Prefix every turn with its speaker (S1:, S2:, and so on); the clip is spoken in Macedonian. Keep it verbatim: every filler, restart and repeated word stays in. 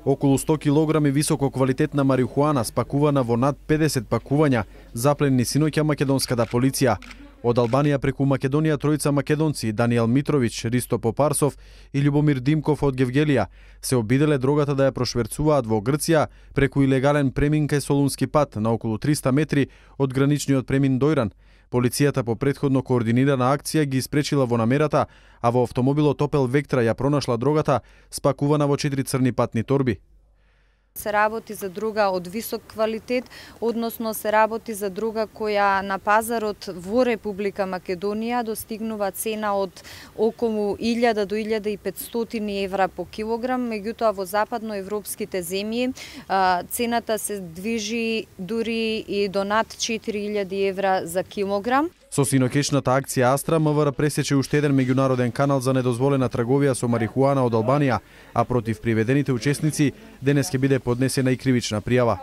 S1: Околу сто килограми високо квалитетна марихуана спакувана во над педесет пакувања запленени синоќа македонската полиција. Од Албанија преку Македонија тројца македонци, Даниел Митрович, Ристо Попарсов и Љубомир Димков од Гевгелија, се обиделе дрогата да ја прошверцуваат во Грција преку илегален премин кај Солунски пат на околу триста метри од граничниот премин Дојран. Полицијата по претходно координирана акција ги испречила во намерата, а во автомобилот Opel Vectra ја пронашла дрогата спакувана во четири црни патни торби.
S2: Се работи за друга од висок квалитет, односно се работи за друга која на пазарот во Република Македонија достигнува цена од околу илјада до илјада и петстотини евра по килограм, меѓутоа во западноевропските земји цената се движи дури и до над четири илјади евра за килограм.
S1: Со синокешната акција Астра, МВР пресече уште еден меѓународен канал за недозволена трговија со марихуана од Албанија, а против приведените учесници денес ќе биде поднесена и кривична пријава.